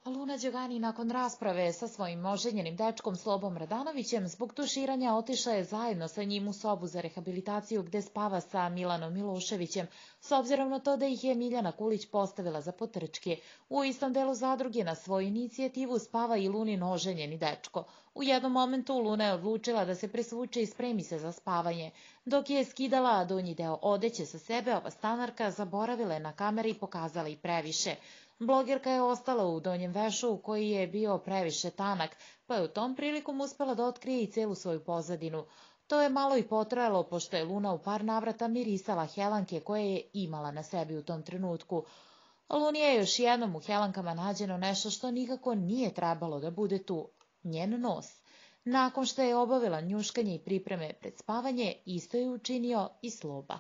Luna Đogani nakon rasprave sa svojim oženjenim dečkom Slobom Radanovićem zbog tuširanja otišla je zajedno sa njim u sobu za rehabilitaciju gde spava sa Milanom Miloševićem, s obzirom na to da ih je Miljana Kulić postavila za potrčke. U istom delu zadruge na svoju inicijativu spava i Lunin oženjeni dečko. U jednom momentu Luna je odlučila da se presvuče i spremi se za spavanje. Dok je skidala donji deo odeće sa sebe, ova stanarka zaboravila je na kamere i pokazala i previše. Blogerka je ostala u donjem vešu koji je bio previše tanak, pa je u tom prilikom uspela da otkrije i celu svoju pozadinu. To je malo i potrajalo, pošto je Luna u par navrata mirisala helanke koje je imala na sebi u tom trenutku. Luni je još jednom u helankama nađeno nešto što nikako nije trebalo da bude tu, njen nos. Nakon što je obavila njuškanje i pripreme pred spavanje, isto je učinio i Sloba.